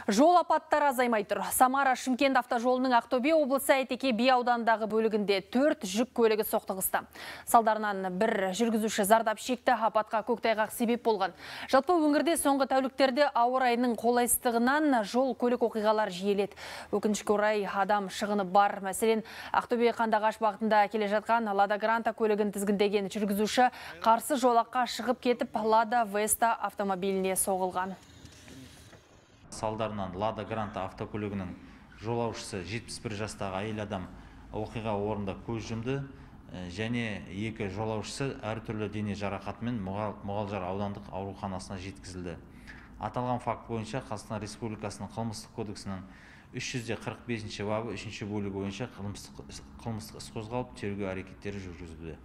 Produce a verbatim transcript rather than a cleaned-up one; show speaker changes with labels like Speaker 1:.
Speaker 1: Жол апаттары азаймай тұр. Самара Шымкент автожолының Ақтөбе облысы Әйтеке би ауданындағы бөлігінде төрт жүк көлігі соқтығысты. Салдарынан бір жүргізуші зардап шекті, апатқа көктайғақ себеп болған. Жалпы өңірде соңғы тәуліктерде ауа райының қолайсыздығынан жол көлік оқиғалар жиіледі. Өкінішке орай адам шығыны бар. Мәселен, Ақтөбе Қандағаш бағытында келе жатқан Лада Гранта көлігін тізгіндеген жүргізуші қарсы жолаққа шығып кетіп, Лада Веста автомобиліне соғылған.
Speaker 2: Салдарынан Лада Гранта автокөлігінің жолаушысы жетпіс бір жастағы әйел адам оқиға орнында көз жұмды, және екі жолаушысы әртүрлі дене жарақатымен Мұғалжар аудандық ауруханасына жеткізілді. Аталған факт бойынша Қазақстан Республикасының қылмыстық кодексінің үш жүз қырық бесінші бабы үшінші бөлігі бойынша қылмыстық іс қозғалып, тергеу әрекеттері жүргізілді.